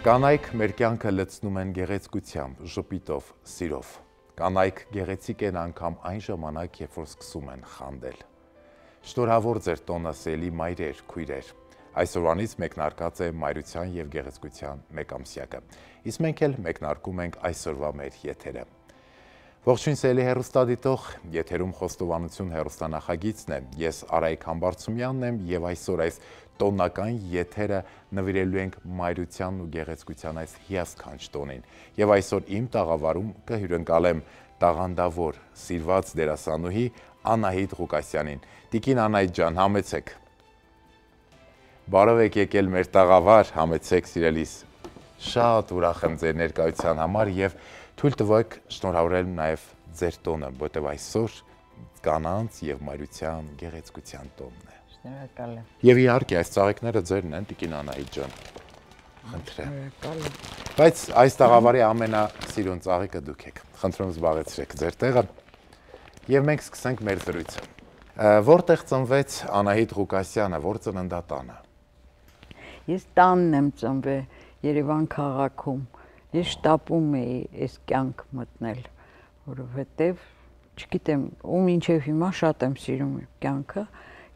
Կանայք մեր կյանքը լցնում են գեղեցկությամբ, ժպիտով, սիրով։ Կանայք գեղեցիկ են անգամ այն ժամանակ, երբ որ սկսում են խանդել։ Շնորհավոր ձեր տոնը սելի մայրեր, քույրեր։ Այսօրվանից մեկնարկած է մայրության եւ գեղեցկության մեկամսյակը։ Իսկ մենք էլ մեկնարկում ենք այսօրվա մեր եթերը։ Ողջույն սելի հեռուստադիտող, եթերում խոստովանություն հեռուստանախագիծն է։ Ես Արայիկ Համբարձումյանն եմ եւ այսօր այս տոնական եթերը նվիրելու ենք մայրությանն ու գեղեցկության այս հիասքանչ տոնին։ Եվ այսօր իմ տաղավարում կհյուրընկալեմ տաղանդավոր, սիրված դերասանուհի Անահիտ Ղուկասյանին։ Տիկին Անահիտ ջան, համեցեք։ Բարով եք եկել մեր տաղավար, համեցեք սիրելիս։ Շատ ուրախ եմ ձեր ներկայության համար եւ թույլ տվեք շնորհավորել նաև ձեր տոնը, որտեղ այսօր կանանց եւ մայրության գեղեցկության տոնն է։ Շնորհակալ եմ։ Եվ իհարկե այս ծաղիկները ձերն են, Տիկին Անահիտ ջան։ Խնդրեմ։ Շնորհակալ եմ։ Բայց այս տաղավարի ամենասիրուն ծաղիկը դուք եք։ Խնդրում զբաղեցրեք ձեր տեղը։ Եվ մենք սկսենք մեր զրույցը։ Որտեղ ծնվեց Անահիտ Ղուկասյանը, որ ծննդատանը։ Ես տանն եմ ծնվել Երևան քաղաքում։ Ես շտապում էի այս կյանք մտնել, որովհետև չգիտեմ, ու մինչև հիմա շատ եմ սիրում կյանքը,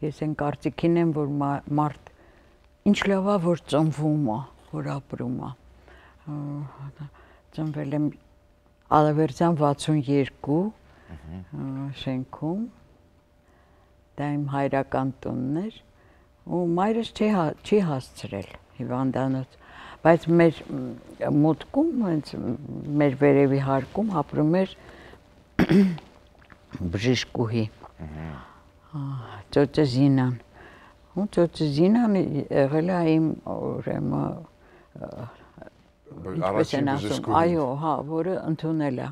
ես այն կարծիքին եմ, որ մարդ ինչ լավ է, որ ծնվում է, որ ապրում է։ Ծնվել եմ Ալավերդյան 62 շենքում, դա իմ հայրական տունն էր, ու մայրս չի հասցրել հիվանդանոց, բայց մեր մուտքում, մեր վերևի հարկում ապրում էր բժիշկուհի, ծոցը Զինան, ու ծոցը Զինան եղել է իմ առաջին բժշկուհին, այո, հա, որը ընդունել է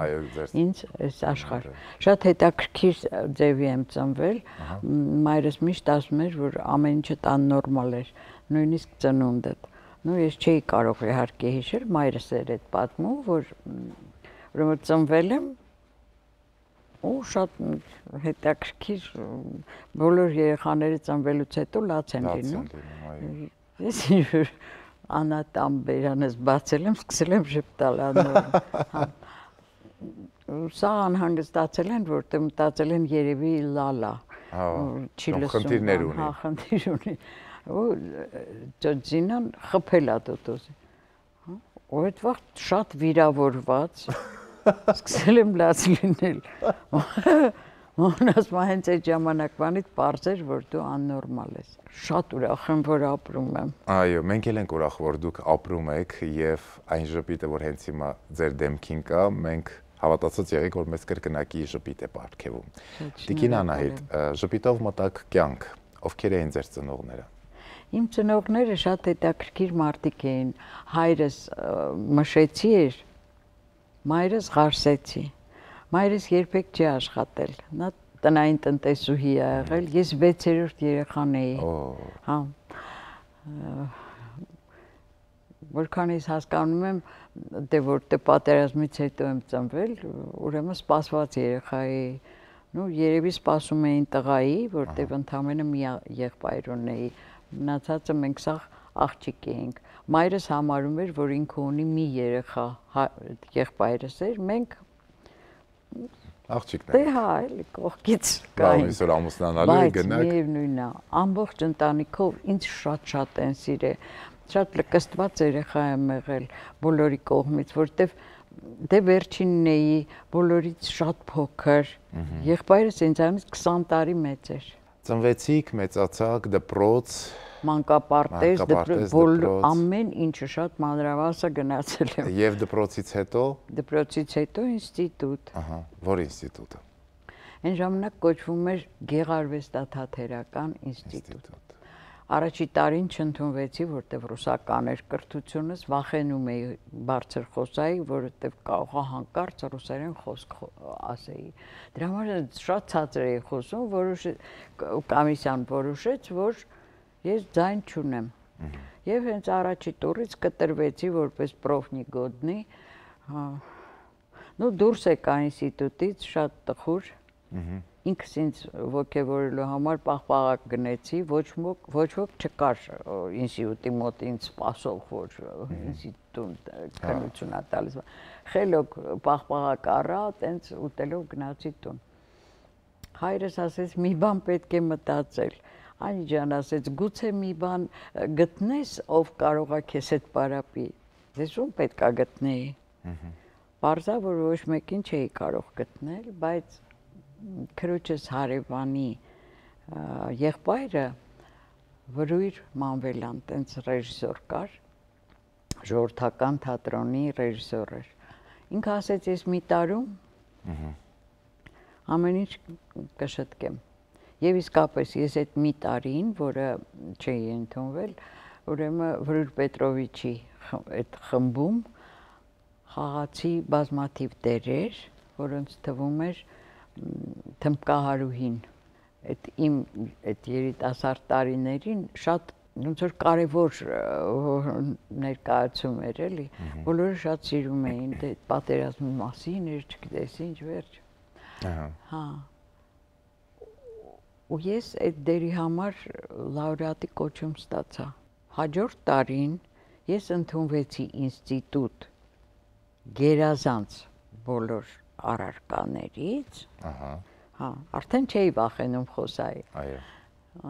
այո, ինձ այս աշխարհ։ Շատ հետաքրքիր ձևի եմ ծնվել, մայրս միշտ ասում էր, որ ամեն ինչը տան նորմալ էր, նույնիսկ ծնունդդ։ Ну, ես չէի կարող իհարկե հիշել, մայրս էր այդ պատմում, որ ծնվել եմ ու շատ հետաքրքիր բոլոր երեխաները ծնվելուց հետո լաց են լինում։ Ես ինչ-որ անատամ բերանս բացել եմ, սկսել եմ ժպտալ անոր։ Սա անհանգստացել են, որտեղ մտածել են երևի լալա, չի լսում, խնդիրներ ունի։ Հա, խնդիր ունի։ Ու Զինան խփել է տոտոզի։ Ու այդ վաղ շատ վիրավորված, սկսել եմ լաց լինել։ Ոնց հենց այդ ժամանակվանից պարզ էր, որ դու աննորմալ ես։ Շատ ուրախ եմ, որ ապրում եմ։ Այո, մենք էլ ենք ուրախ, որ դուք ապրում եք եւ այն ժպիտը, որ հենց հիմա ձեր դեմքին կա, մենք հավատացած եղեք, որ մեզ կրկնակի ժպիտ է պարգևում։ Տիկին Անահիտ, ժպիտով մտակ կյանք, ովքեր էին ձեր ծնողները։ Իմ ծնողները շատ հետաքրքիր մարդիկ էին, հայրս մշեցի էր, մայրս ղարսեցի, մայրս երբեք չի աշխատել, նա տնային տնտեսուհի է եղել, ես 6-րդ երեխան էի, հա, որքան ես հասկանում եմ, դե որտե պատերազմից հետո եմ ծնվել, ուրեմն սպասված երեխա էի, երևի սպասում էին տղայի, որտեղ ընդամենը մի եղբայր ունեի, մնացածը մենք սաղ աղջիկ էինք, մայրս համարում էր, որ ինքը ունի մի երեխա, եղբայրս էր, մենք աղջիկներ։ Դե հա, էլի կողքից կային։ Այսօր ամուսնանալու եք գնաք։ Բայց միևնույնն է, ամբողջ ընտանիքով ինձ շատ են սիրել, շատ լկստված երեխա եմ եղել բոլորի կողմից, որտեվ դե վերջինն էի, բոլորից շատ փոքր, եղբայրս ինձանից 20 տարի մեծ էր։ Ծնվեցիք, մեծացաք, դպրոց, մանկապարտեզ, ամեն ինչը շատ մանրավասը գնացել եմ։ Եվ դպրոցից հետո։ Դպրոցից հետո ինստիտուտ։ Ահա, որ ինստիտուտը։ Այն ժամանակ կոչվում էր Գեղարվեստաթատերական ինստիտուտ։ Առաջի տարին չընդունվեցի, որտեղ ռուսական էր կրթությունս, վախենում էի բարձր խոսայի, որովհետև կարող է հանկարծ ռուսերեն խոսք ասեի։ Դրա համար շատ ցածր էի խոսում, կոմիսիան որոշեց, որ ես ձայն չունեմ։ Եվ հենց առաջի տուրից կտրվեցի որպես պրոֆնիգոդնի, դուրս եկա ինստիտուտից շատ տխուր, Ինքս ինձ ոգևորելու համար պաղպաղակ գնեցի, ոչ ոք չկար ինստիտուտի մոտ ինձ սպասող, որ ինստիտուտում քննություն ա տալիս։ Խելոք պաղպաղակ առա, տենց ուտելով գնացի տուն։ Հայրս ասեց՝ մի բան պետք է մտածել։ Անի ջան ասեց՝ գուցե մի բան գտնես, ով կարող է քեզ հետ պարապի։ Ես ում պետք է գտնեի։ Պարզա, որ ոչ մեկին չէի կարող գտնել, բայց քրոջս հարևանի եղբայրը Վրույր Մանվելյան, տենց ռեժիսոր կար, ժողովրդական թատրոնի ռեժիսոր էր։ Ինքը ասեց, ես մի տարում ամեն ինչ կշտկեմ։ Եվ իսկապես ես այդ մի տարին, որը չէի ընդունվել, ուրեմն Վրույր Պետրովիչի այդ խմբում խաղացի բազմաթիվ դերեր, որոնց թվում էր Թմբկահարուհին, այդ երիտասարդ տարիներին շատ ոնց որ կարևոր ներկայացում էր, էլի, բոլորը շատ սիրում էին, դե պատերազմի մասին էր, չգիտես ինչ վերջ։ Հա։ Ու ես այդ դերի համար լաուրեատի կոչում ստացա։ Հաջորդ տարին ես ընդունվեցի ինստիտուտ գերազանց բոլոր առարկաներից, հա, արդեն չէի վախենում խոսայի։ Այո։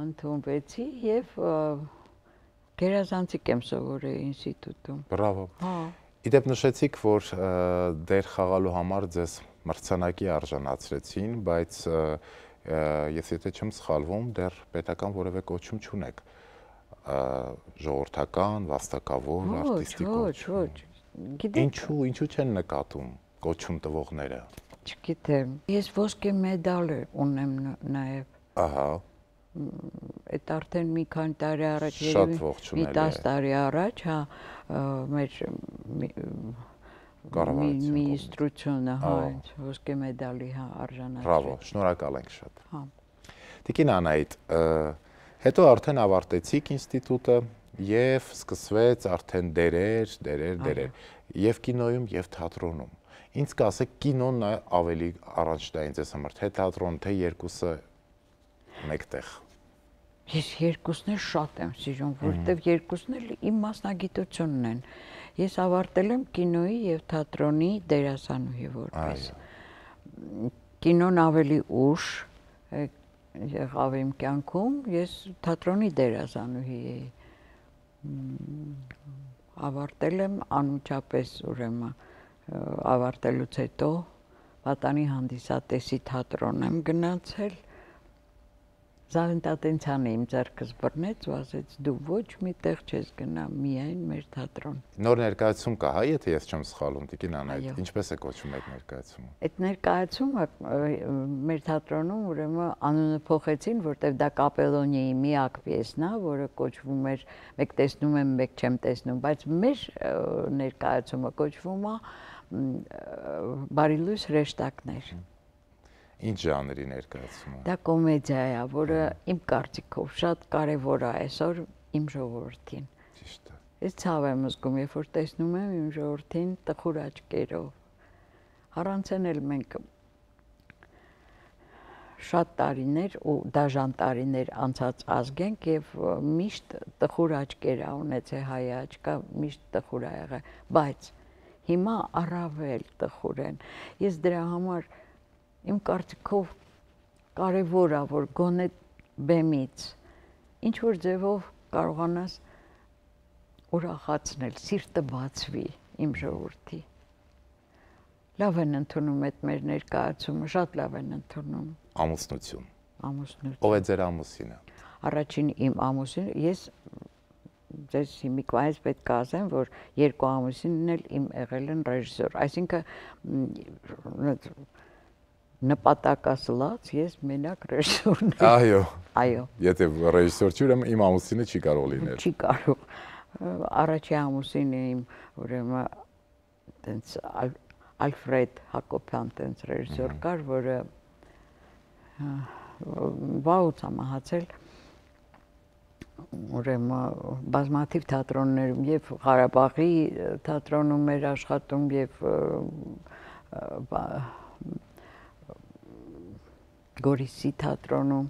Ընդունվեցի եւ գերազանցիկ եմ սովորել ինստիտուտում։ Բրավո։ Հա։ Իդեպ նշեցիք, որ դեր խաղալու համար ձեզ մրցանակի արժանացրեցին, բայց ես եթե չեմ սխալվում, դեռ պետական որևէ կոչում չունեք։ Ժողովրդական, վաստակավոր, արտիստիկ կոչում։ Ոչ։ Ինչու չեն նկատում կոչում տվողները։ Չգիտեմ։ Ես ոսկե մեդալ ունեմ նաև։ Ահա։ Այդ արդեն մի քանի տարի առաջ, շատ ողջունելի է։ Մի 10 տարի առաջ, հա, մեր Մինիստրությունը, հա, ոսկե մեդալի արժանացրեց։ Բրավո, շնորհակալ ենք շատ։ Հա։ Տիկին Անահիտ, հետո արդեն ավարտեցիք ինստիտուտը եւ սկսվեց արդեն դերեր, եւ կինոյում եւ թատրոնում։ Ինձ կասեք, կինոն ավելի առաջնային ձեզ համար, թե թատրոն, թե երկուսը մեկտեղ։ Ես երկուսն էլ շատ եմ սիրում, որովհետեւ երկուսն էլ իմ մասնագիտությունն են։ Ես ավարտել եմ կինոյի եւ թատրոնի դերասանուհի որպես։ Կինոն ավելի ուշ եղավ իմ կյանքում, ես թատրոնի դերասանուհի էի։ Ավարտել եմ անմիջապես ուրեմն ավարտելուց հետո Պատանի հանդիսատեսի թատրոն եմ գնացել։ Զավենտատենցյանը իմ ձեռքս բռնեց ու ասեց դու ոչ մի տեղ չես գնա, միայն մեր թատրոն։ Նոր ներկայացում կա, հա, եթե ես չեմ սխալվում, Տիկին Անահիտ, ինչպես է կոչվում այդ ներկայացումը։ Այդ ներկայացումը մեր թատրոնում ուրեմն անունը փոխեցին, որտեղ դա Կապելոնիայի միակ պիեսն է, որը կոչվում էր մեկ տեսնում եմ, մեկ չեմ տեսնում, բայց մեր ներկայացումը կոչվում է Բարիլույս հրեշտակներ։ Ինչ ժանրի ներկայացում է։ Դա կոմեդիա է, որը իմ կարծիքով շատ կարևոր է այսօր իմ ժողովրդին։ Ճիշտ է։ Ես ցավ եմ զգում, երբ որ տեսնում եմ իմ ժողովրդին տխուր աչքերով։ Առանց էլ մենք շատ տարիներ ու դաժան տարիներ անցած ազգ ենք եւ միշտ տխուր աչքեր ա ունեցել հայ աչքա, միշտ տխուր ա եղել, բայց հիմա առավել տխուր են։ Ես դրա համար իմ կարծիքով կարևոր է, որ գոնե բեմից ինչ որ ձևով կարողանաս ուրախացնել, սիրտը բացվի իմ ժողովրդի։ Լավ են ընդունում այդ մեր ներկայացումը, շատ լավ են ընդունում։ Ամուսնություն։ Ամուսնություն։ Ով է ձեր ամուսինը։ Առաջին իմ ամուսինը, ես ձեզ հիմիկվայից պետք է ասեմ, որ երկու ամուսինն էլ իմ եղել են ռեժիսոր, այսինքն նպատակասլաց ես մենակ ռեժիսորն եմ։ Այո։ Այո։ Եթե ռեժիսոր չի, ուրեմն իմ ամուսինը չի կարող լինել։ Չի կարող։ Առաջի ամուսինը իմ ուրեմն տենց Ալֆրեդ Հակոբյան տենց ռեժիսոր կար, որը վաղուց է մահացել, ուրեմն բազմաթիվ թատրոններում եւ Ղարաբաղի թատրոնում էր աշխատում եւ Գորիսի թատրոնում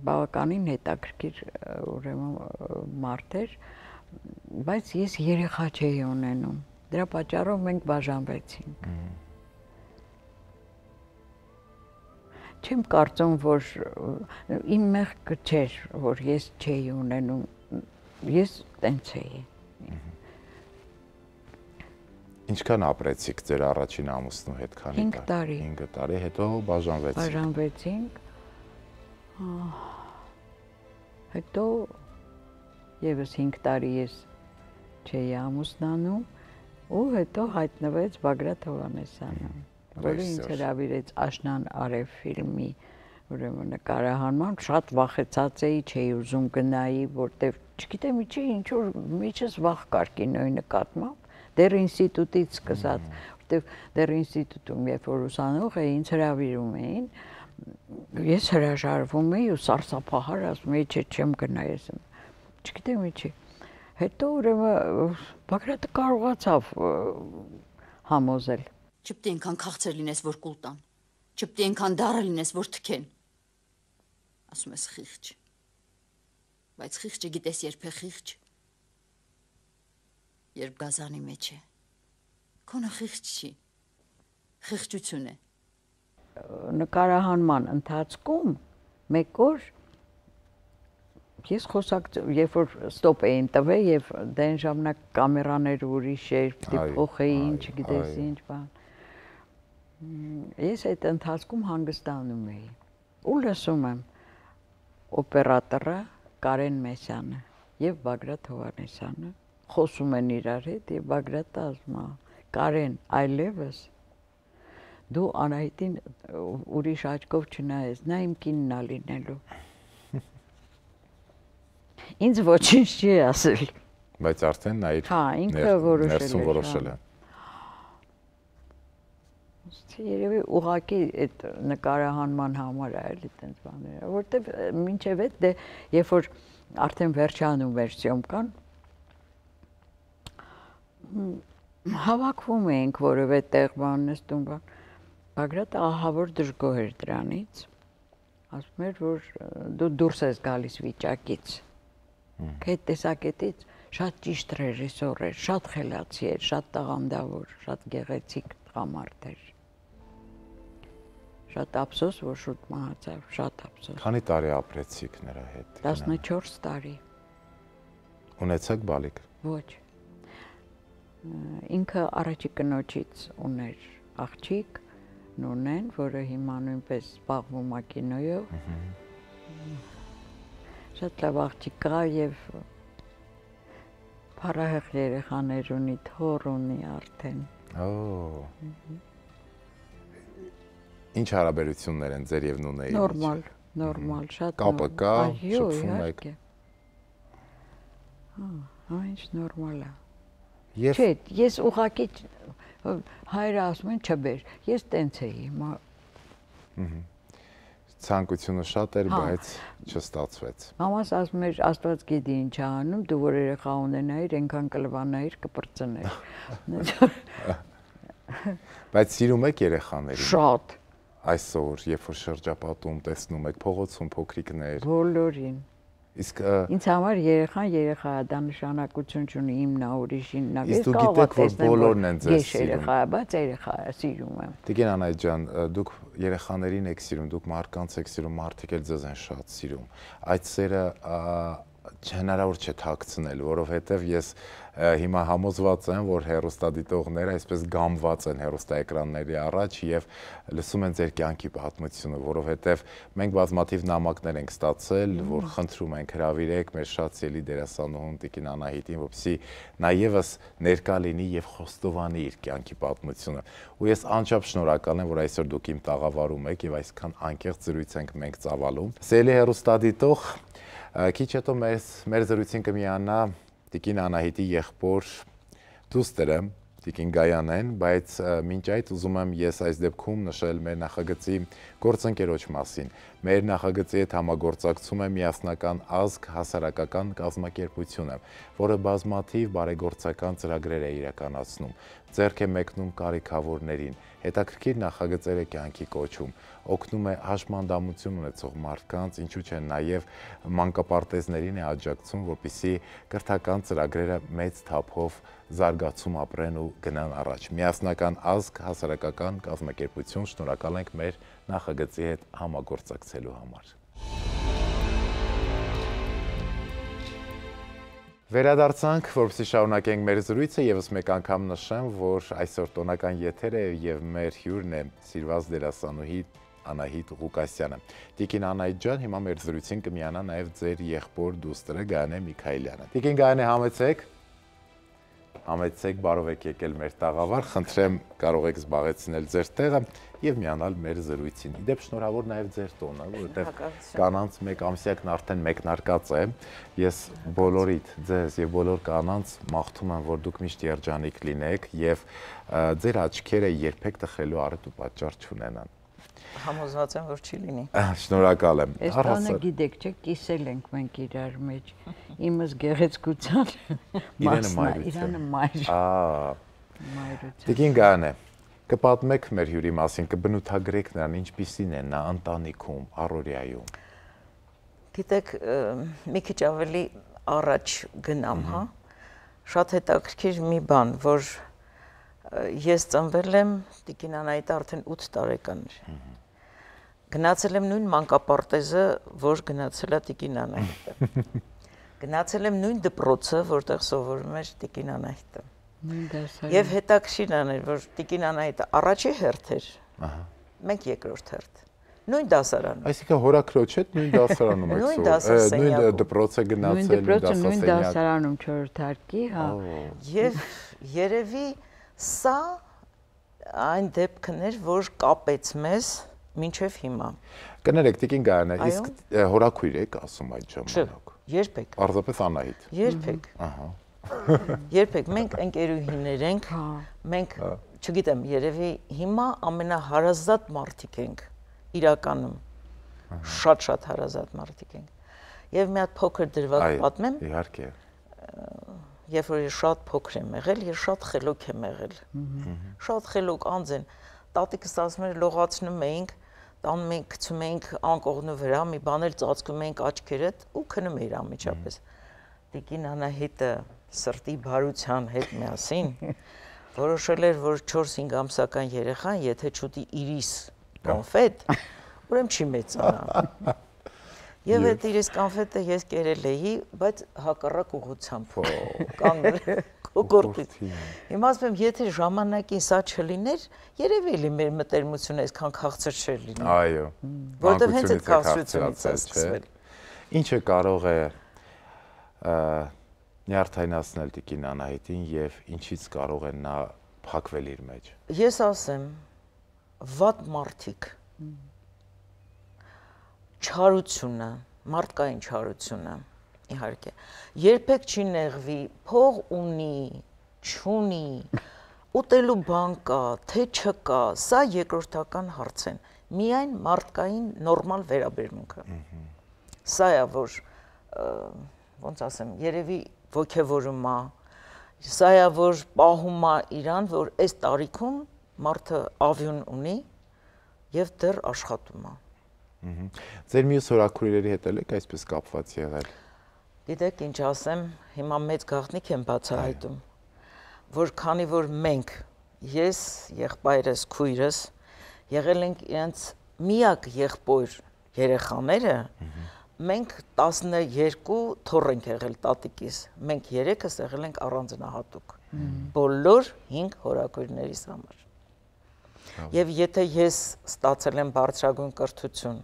բավականին հետաքրքիր ուրեմն մարդ էր, բայց ես երեխա չէի ունենում։ Դրա պատճառով մենք բաժանվեցինք։ Չեմ կարծում, որ իմ մեղքը չէր, որ ես չէի ունենում, ես տենց էի։ Ինչքան ապրեցիք ձեր առաջին ամուսնու հետ, քանի 5 տարի։ 5 տարի, հետո բաժանվեցիք։ Բաժանվեցինք։ Հետո եւս 5 տարի ես չէի ամուսնանում ու հետո հայտնվեց Բագրատ Հովհաննիսյանը, որը ինձ հրավիրեց Աշնան Արև ֆիլմի ուրեմն նկարահանման, շատ վախեցած էի, չէի ուզում գնայի, որտեվ չգիտեմ ինչ որ միջս վախ կար կինոյի նկատմամբ, դեռ ինստիտուտից սկսած, որտեվ դեռ ինստիտուտում երբ որ ուսանող էի, ինձ հրավիրում էին, ես հրաժարվում էի ու սարսափահար ասում էի, չէ, չեմ գնա ես, չգիտեմ ինչի։ Հետո ուրեմն Բագրատը կարողացավ համոզել։ Չպետք է այնքան քաղցր լինես, որ կուլ տան, չպետք է այնքան դառը լինես, որ թքեն։ Ասում ես խիղճ, բայց խիղճը գիտես երբ է խիղճ, երբ գազանի մեջ է, քոնը խիղճ չի, խիղճություն է։ Նկարահանման ընթացքում մեկ օր ես երբ որ ստոպ էին տվել եւ դեն ժամանակ կամերաներ ուրիշ էր, փոխեին, չգիտես ինչ բան։ Ես այդ ընթացքում հանգստանում էի։ Ու լսում եմ օպերատորը Կարեն Մեսյանը եւ Բագրատ Հովհաննիսյանը խոսում են իրար հետ եւ Բագրատը ասում է. Կարեն, այլևս դու Անահիտին ուրիշ աչքով չնայես, նա իմ կինն է լինելու։ Ինձ ոչինչ չի ասել։ Բայց արդեն նա իր ինքը որոշել է։ Երևի ուղղակի այդ նկարահանման համար է էլի տենց բաները, որտեվ մինչև այդ դե երբ որ արդեն վերջանում էր սյոմկան, հավաքվում էինք որևէ տեղ բան նստում բան, Բագրատը ահավոր դժգոհ էր դրանից, ասում էր, որ դու դուրս ես գալիս վիճակից, այդ տեսակետից շատ ճիշտ ռեժիսոր էր, շատ խելացի էր, շատ տաղանդավոր, շատ գեղեցիկ տղամարդ էր։ Շատ ափսոս, որ շուտ մահացավ, շատ ափսոս։ Քանի տարի ապրեցիք նրա հետ։ 14 տարի։ Ունեցաք բալիկ։ Ոչ։ Ինքը առաջի կնոջից ուներ աղջիկ, Նունեն, որը հիմա նույնպես զբաղվում է կինոյով։ Շատ լավ աղջիկ կա եւ փառահեղ երեխաներ ունի, թոռ ունի արդեն։ Ինչ հարաբերություններ են ձեր եւ Նունեի մեջ։ Նորմալ, շատ կապը կա, շփվում եք։ Ինչ նորմալ է։ Եվ չէ, ես ուղղակի հայրը ասում են չբեր, ես տենց էի։ Ցանկությունը շատ էր, բայց չստացվեց։ Մամաս ասում էր, Աստված գիտի ինչ է անում, դու որ երեխա ունենայիր, այնքան կլվանայիր, կպրծներ։ Բայց սիրում եք երեխաներին։ Շատ։ Այսօր, երբ որ շրջապատում տեսնում եք փողոցում փոքրիկներ։ Բոլորին։ Իսկ ինձ համար երեխան երեխա է, դա նշանակություն չունի իմն է, ուրիշին նա։ Իսկ դու գիտեք, որ բոլորն են ձեզ սիրում։ Ես երեխա եմ, բայց երեխա է, սիրում եմ։ Տիկին Անահիտ ջան, դուք երեխաներին եք սիրում, դուք մարդկանց եք սիրում, մարդիկ էլ ձեզ են շատ սիրում։ Այդ սերը հնարավոր չէ թաքցնել, որովհետև ես հիմա համոզված եմ, որ հեռուստադիտողները այսպես գամված են հեռուստաէկրանների առաջ եւ լսում են ձեր կյանքի պատմությունը, որովհետև մենք բազմաթիվ նամակներ ենք ստացել, որ խնդրում ենք հրավիրեք մեր շատ սիրելի դերասանուհուն Տիկին Անահիտին, որպեսզի նա եւս ներկա լինի եւ խոստովանի իր կյանքի պատմությունը։ Ու ես անչափ շնորհակալ եմ, որ այսօր դուք իմ տաղավարում եք եւ այսքան անկեղծ զրույց ենք մենք ծավալում։ Սիրելի հեռուստադիտող, քիչ հետո մեր զրույցին կմիանա Տիկին Անահիտի եղբոր դուստրը Տիկին Գայանեն, բայց մինչ այդ ուզում եմ ես այս դեպքում նշել մեր նախագծի գործընկերոջ մասին։ Մեր նախագծի հետ համագործակցում է միասնական ազգ հասարակական կազմակերպությունը, որը բազմաթիվ բարեգործական ծրագրեր է իրականացնում։ ձեռք է մեկնում կարիքավորներին, հետաքրքիր նախագծեր է կյանքի կոչում, օգնում է հաշմանդամություն ունեցող մարդկանց, ինչու չէ նաև մանկապարտեզներին է աջակցում, որպեսզի կրթական ծրագրերը մեծ թափով զարգացում ապրեն ու գնան առաջ։ Միասնական ազգ, հասարակական կազմակերպություն, շնորհակալ ենք մեր նախագծի հետ համագործակցելու համար։ Վերադարձանք, որպեսզի շարունակենք մեր զրույցը, եւս մեկ անգամ նշեմ, որ այսօր տոնական եթեր է եւ մեր հյուրն է սիրված դերասանուհի Անահիտ Ղուկասյանը։ Տիկին Անահիտ ջան, հիմա մեր զրույցին կմիանա նաեւ ձեր եղբոր դուստրը Գայանե Միքայելյանը։ Տիկին Գայանե, համեցեք, բարով եք եկել մեր տաղավար, խնդրեմ կարող եք զբաղեցնել ձեր տեղը եւ միանալ մեր զրույցին։ Իդեպ շնորհավոր նաեւ ձեր տոնը, որովհետեւ կանանց մեկ ամսյակն արդեն մեկնարկած է։ Ես բոլորիդ ձեզ եւ բոլոր կանանց մաղթում եմ, որ դուք միշտ երջանիկ լինեք եւ ձեր աչքերը երբեք տխրելու առիթ ու պատճառ չունենան։ Համոզված եմ, որ չի լինի։ Շնորհակալ եմ։ Այս բանը գիտեք, չէ՞, կիսել ենք մենք իրար մեջ։ Իմս գեղեցկության Իրանը մայր։ Տիկին Գայանե, կպատմեք մեր հյուրի մասին, կբնութագրեք նրան, ինչպիսին է նա ընտանիքում, առօրյայում։ Գիտեք, մի քիչ ավելի առաջ գնամ, հա։ Շատ հետաքրքիր մի բան, որ ես ծնվել եմ, Տիկին Անահիտը արդեն 8 տարեկան էր։ Գնացել եմ նույն մանկապարտեզը, որ գնացել է Տիկին Անահիտը։ Գնացել եմ նույն դպրոցը, որտեղ սովորում էր Տիկին Անահիտը։ Եվ հետաքրքիրն էր, որ Տիկին Անահիտը առաջի հերթ էր, մենք երկրորդ հերթ։ Նույն դասարանում։ Այսինքն հորաքրոջ հետ նույն դասարանում եք սովորում։ Նույն դպրոց է գնացել, նույն դասարանում 4-րդ հարկի, հա։ Եվ երևի սա այն դեպքն էր, որ կապեց մեզ մինչև հիմա։ Կներեք, Տիկին Գայանե, իսկ հորաքույր եք ասում այդ ժամանակ։ Երբեք։ Պարզապես Անահիտ։ Երբեք։ Ահա։ Երբեք մենք ընկերուհիներ ենք, մենք, չգիտեմ, երևի հիմա ամենահարազատ մարդիկ ենք իրականում։ Շատ հարազատ մարդիկ ենք։ Եվ մի հատ փոքր դրվագ պատմեմ։ Իհարկե։ Երբ որ ես շատ փոքր եմ եղել, ես շատ խելոք եմ եղել։ Շատ խելոք անձ են։ Տատիկս ասում էր լողացնում էինք, տանում էինք, գցում էինք անկողնու վրա, մի բան էլ ծածկում էինք աչքերդ ու քնում էիր անմիջապես։ Տիկին Անահիտը սրտի բարության հետ միասին որոշել էր, որ 4-5 ամսական երեխան, եթե չուտի իրիս կոնֆետ, ուրեմն չի մեծանա։ Եվ այդ իրիս կոնֆետը ես կերել էի, բայց հակառակ ուղղությամբ կանգնել կոկորտից։ Հիմա ասում եմ, եթե ժամանակին սա չլիներ, երևի էլի մեր մտերմությունը այսքան քաղցր չէր լինի։ Այո։ Որտեղ հենց այդ քաղցրությունից է սկսվել։ Ինչը կարող է նյարդայնացնել Տիկին Անահիտին եւ ինչից կարող է նա փակվել իր մեջ։ Ես ասեմ, վատ մարդիկ չարությունը, մարդկային չարությունը, իհարկե, երբեք չի նեղվի, փող ունի, չունի, ուտելու բան կա, թե չկա, սա երկրորդական հարց են, միայն մարդկային նորմալ վերաբերմունքը։ Սա է, որ, ոնց ասեմ, երևի ոգևորում է, սա է, որ պահում է իրան, որ այս տարիքում մարդը ավյուն ունի եւ դեռ աշխատում է։ Ձեր մյուս հորաքույրերի հետ եք այսպես կապված եղել։ Գիտեք ինչ ասեմ, հիմա մեծ գաղտնիք եմ բացահայտում, որ քանի որ մենք, ես, եղբայրս, քույրս, եղել ենք իրենց միակ եղբոր երեխաները, մենք 12 թոռ ենք եղել տատիկիս, մենք 3-ս եղել ենք առանձնահատուկ, բոլոր 5 հորաքույրներիս համար։ Եվ եթե ես ստացել եմ բարձրագույն կրթություն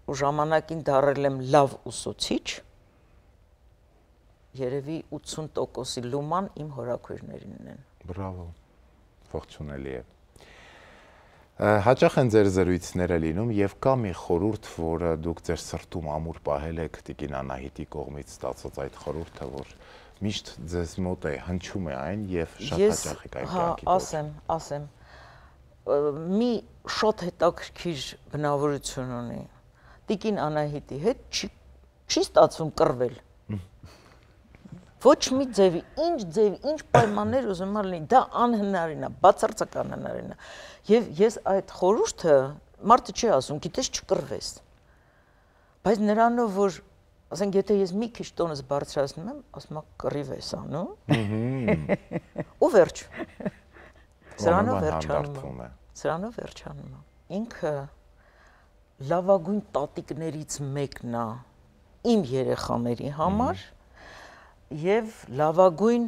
ու ժամանակին դառել եմ լավ ուսուցիչ, երևի 80%-ի լուման իմ հորաքույրներինն են։ Բրավո, ողջունելի է։ Հաճախ են ձեր զրույցները լինում եւ կա մի խորհուրդ, որը դուք ձեր սրտում ամուր պահել եք Տիկին Անահիտի կողմից ստացած այդ խորհուրդը, որ միշտ ձեզ մոտ է, հնչում է այն եւ շատ հաճախ եք այն կյանքի։ Ասեմ, մի շատ հետաքրքիր բնավորություն ունի։ Տիկին Անահիտի հետ չի ստացվում կռվել։ Ոչ մի ձևի, ինչ պայմաններ ուզում լինի, դա անհնարին է, բացարձակ անհնարին է։ Եվ ես այդ խորհուրդը մարդը չի ասում, գիտես չկռվես։ Բայց նրանով որ, ասենք, եթե ես մի քիչ տոնս բարձրացնում եմ, ասում եմ կռիվ ես անում։ Ու վերջ։ Սրանով վերջանում է։ Ինքը լավագույն տատիկներից մեկն է իմ երեխաների համար եւ լավագույն,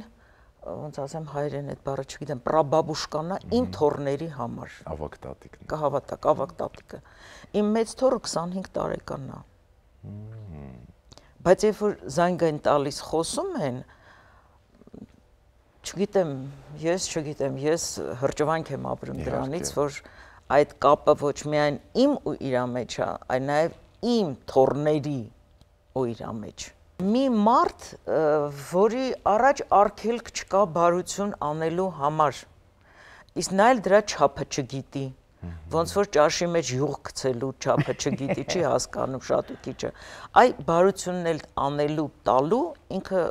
ոնց ասեմ հայերեն այդ բառը չգիտեմ, պրաբաբուշկանա իմ թորների համար։ Ավակ տատիկն։ Կհավատաք, ավակ տատիկը։ Իմ մեծ թորը 25 տարեկան է։ Բայց երբ որ զանգային տալիս խոսում են, չգիտեմ, ես հրճվանք եմ ապրում դրանից, որ այդ կապը ոչ միայն իմ ու իր մեջ է, այլ նաև իմ թորների ու իր մեջ։ Մի մարդ, որի առաջ արգելք չկա բարություն անելու համար, իսկ նա էլ դրա չափը չգիտի, ոնց որ ճաշի մեջ յուղ գցելու չափը չգիտի, չի հասկանում շատ ու քիչը, այ բարությունն էլ անելու տալու ինքը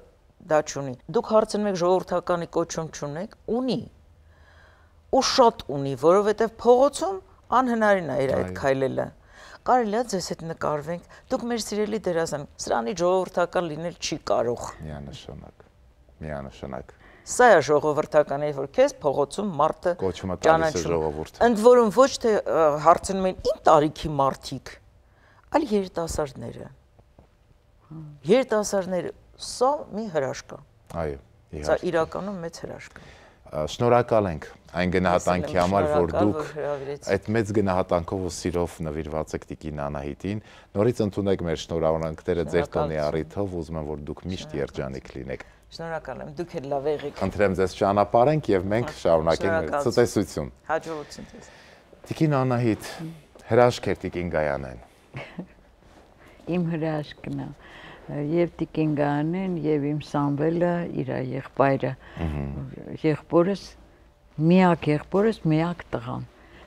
դա չունի։ Դուք հարցնում եք ժողովրդականի կոչում չունեք, ունի։ Ու շատ ունի, որովհետև փողոցում անհնարին է իր այդ քայլելը։ Կարելի է ձեզ հետ նկարվենք, դուք մեր սիրելի դերասան, սրանի ժողովրդական լինել չի կարող։ Միանշանակ։ Սա է ժողովրդականը, որ քեզ փողոցում մարդը կոչումը տալիս է ժողովուրդ։ Ընդ որում ոչ թե հարցնում են ինչ տարիքի մարդիկ, այլ երիտասարդները։ Երիտասարդները սա մի հրաշք է։ Այո, իհարկե։ Սա իրականում մեծ հրաշք է։ Շնորհակալ ենք այն գնահատանքի համար, որ դուք այդ մեծ գնահատանքով ու սիրով նվիրված եք Տիկին Անահիտին։ Նորից ընդունեք մեր շնորհավորանքները ձեր տոնի առիթով, ուզում եմ, որ դուք միշտ երջանիկ լինեք։ Շնորհակալ եմ, դուք էլ լավ եղեք։ Խնդրեմ ձեզ ճանապարհենք եւ մենք շարունակենք մեր ցտեսություն։ Հաջողություն ձեզ։ Տիկին Անահիտ, հրաշք էր Տիկին Գայանեն։ Իմ հրաշքն է։ Եվ Տիկին Գայանեն եւ իմ Սամվելը իր եղբայրը։ Եղբորս միակ տղան։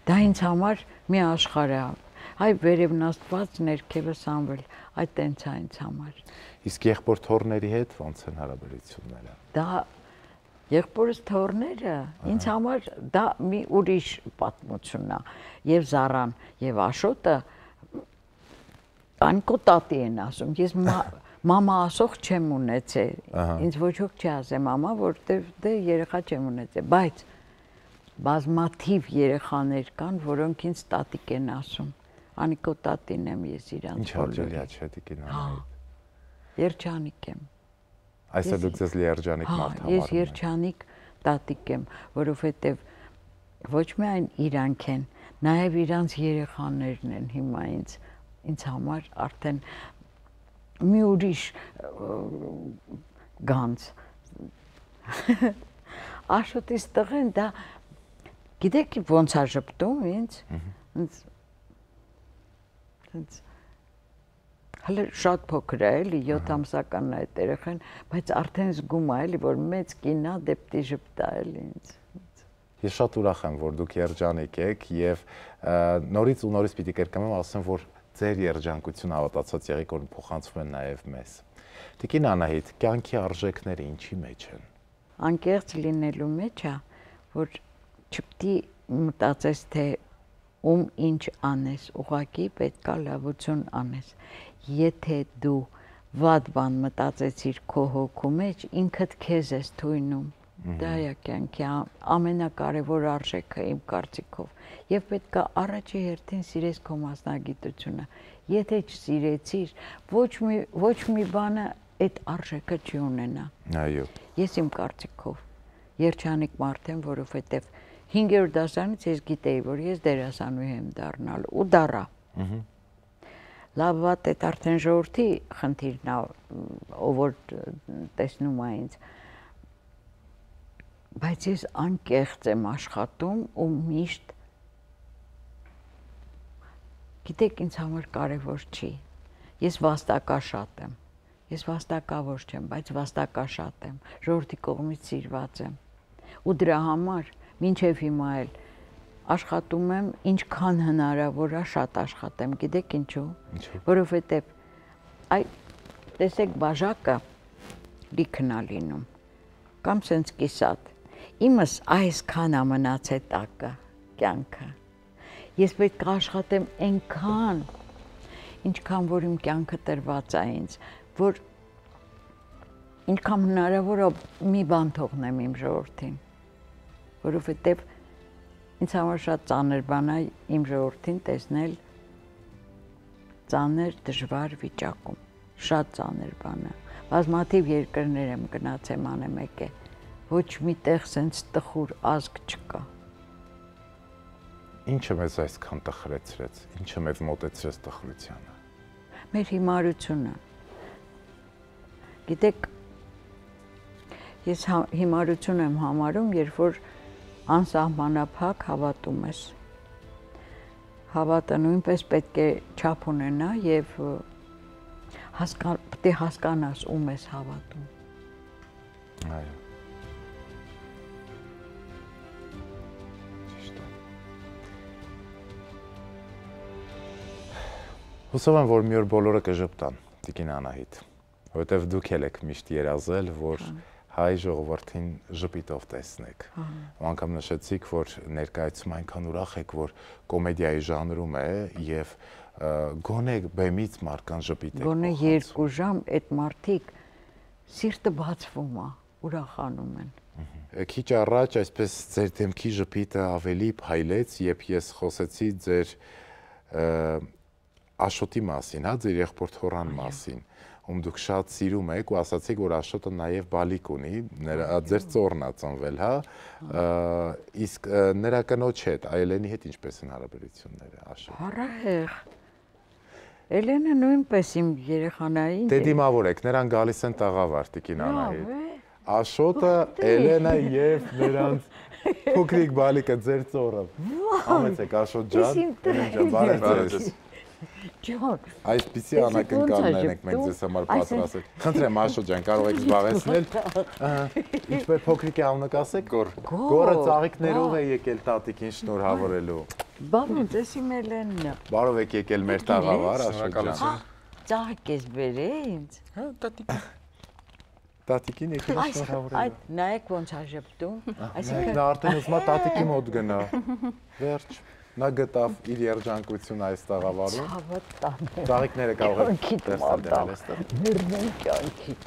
Դա ինձ համար մի աշխարհ է։ Այ վերևնաստված ներքևը Սամվել, այդ տենց է ինձ համար։ Իսկ եղբոր թորների հետ ո՞նց են հարաբերությունները։ Դա եղբորս թորները ինձ համար դա մի ուրիշ պատմություն է։ Եվ Զարան եւ Աշոտը Անկո տատի են ասում, ես մամա ասող չեմ ունեցել, ինձ ոչ ոք չի ասել մամա, որտեվ դե երեխա չեմ ունեցել, բայց բազմաթիվ երեխաներ կան, որոնք ինձ տատիկ են ասում, Անիկո տատին եմ ես իրանց։ Ինչ հաճելի է չէ Տիկին Անահիտ։ Երջանիկ եմ։ Այսօր դուք ձեզ երջանիկ մարդ համարում եք։ Ես երջանիկ տատիկ եմ, որովհետև ոչ միայն իրանք են, նաև իրանց երեխաներն են հիմա ինձ համար արդեն մի ուրիշ գանձ։ Աշոտից տղեն դա գիտեք ոնց է ժպտում ինձ։ Հələ շատ փոքր է էլի 7 ամսական է այդ երեխան, բայց արդեն զգում է էլի որ մեծ կինա դեպտի ժպտա էլի ինձ։ Ես շատ ուրախ եմ որ դուք երջանիկ եք եւ նորից ու նորից պիտի կրկնեմ ասեմ որ ձեր երջանկությունը հավատացած եղեք որ փոխանցվում են նաեւ մեզ։ Տիկին Անահիտ, կյանքի արժեքները ինչի մեջ են։ Անկեղծ լինելու մեջ է, որ չպետք է մտածես թե ում ինչ անես, ուղղակի պետք է լավություն անես։ Եթե դու վատ բան մտածեցիր քո հոգու մեջ, ինքդ քեզ ես թույնում։ Դա է կյանքի ամենակարևոր արժեքը իմ կարծիքով։ Եվ պետք է առաջի հերթին սիրես քո մասնագիտությունը։ Եթե չսիրեցիր, ոչ մի բանը այդ արժեքը չի ունենա։ Այո։ Ես իմ կարծիքով երջանիկ մարդ եմ, որովհետև 5-րդ դասարանից ես գիտեի, որ ես դերասանուհի եմ դառնալու ու դառա։ Լավ վատ այդ արդեն ժողովրդի խնդիրն է, ով որ տեսնում է ինձ։ Բայց ես անկեղծ եմ աշխատում ու միշտ գիտեք ինձ համար կարևոր չի։ Ես վաստակաշատ եմ։ Ես վաստակավոր չեմ, բայց վաստակաշատ եմ։ Ժողովրդի կողմից սիրված եմ։ Ու դրա համար մինչև հիմա էլ աշխատում եմ ինչքան հնարավոր է շատ աշխատեմ, գիտեք ինչու։ Որովհետև այ տեսեք բաժակը լիքն է լինում, կամ սենց կիսատ, իմս այսքան ամնաց է տակը, կյանքը, ես պետք աշխատեմ ենքան, ինչքան որ իմ կյանքը տրված է ինձ, որ ինչքան հնարավոր է մի բան թողնեմ իմ ժողովրդին, որովհետև ինձ համար շատ ծանր բան է իմ ժողովրդին տեսնել ծանր դժվար վիճակում, շատ ծանր բան է, բազմաթիվ երկրներ եմ գնացեմ անեմեկ է, ոչ մի տեղ սենց տխուր ազգ չկա։ Ինչը մեզ այսքան տխրեցրեց, ինչը մեզ մոտեցրեց տխրությանը։ Մեր հիմարությունը։ Գիտեք, ես հիմարություն եմ համարում, երբ որ անսահմանափակ հավատում ես։ Հավատը նույնպես պետք է չափ ունենա եւ պետք է հասկանաս ում ես հավատում։ Այո։ Հուսով եմ, որ մի օր բոլորը կժպտան, Տիկին Անահիտ, որովհետև դուք եք միշտ երազել, որ հայ ժողովրդին ժպիտով տեսնեք։ Ու անգամ նշեցիք, որ ներկայացում այնքան ուրախ եք, որ կոմեդիայի ժանրում է եւ գոնե բեմից մարդկան ժպիտ եք։ Գոնե 2 ժամ այդ մարդիկ սիրտը բացվում է, ուրախանում են։ Քիչ առաջ այսպես ձեր դեմքի ժպիտը ավելի փայլեց, երբ ես խոսեցի ձեր Աշոտի մասին, հա, ձեր եղբոր Թորան մասին, ում դուք շատ սիրում եք ու ասացիք, որ Աշոտը նաև բալիկ ունի, ձեր ծոռն է ծնվել, հա, իսկ նրա կնոջ հետ, Այլենի հետ ինչպես են հարաբերությունները, Աշոտ։ Առահեղ։ Էլենը նույնպես իմ երեխանային։ Դե դիմավոր եք, նրան գալիս են տաղավար, Տիկին Անահիտ։ Աշոտը, Էլենը եւ նրանց փոքրիկ բալիկը ձեր ծոռը։ Համեցեք Աշոտ ջան, Էլեն ջան, բարև ձեզ։ Ջան, այսպիսի անակնկալներ ենք մենք ձեզ համար պատրաստել։ Խնդրեմ Աշոտ ջան, կարող եք զբաղեցնել։ Ինչպես փոքրիկի անունը կասեք, Գորը ծաղիկներով է եկել տատիկին շնորհավորելու։ Բարոց, ես իմ Էլենն եմ։ Բարով եք եկել մեր տաղավար, Աշոտ ջան։ Ծաղիկ ես բերել ինձ։ Հա, տատիկ։ Տատիկին եկել շնորհավորելու։ Այդ նայեք ոնց է ժպտում։ Այսինքն նա արդեն ուզում է տատիկի մոտ գնա։ Վերջ։ Նա գտավ իր երջանկությունը այս տաղավարում։ Ծաղիկները կարող եք տեսնել այստեղ։ Նրմեն կյանքիդ։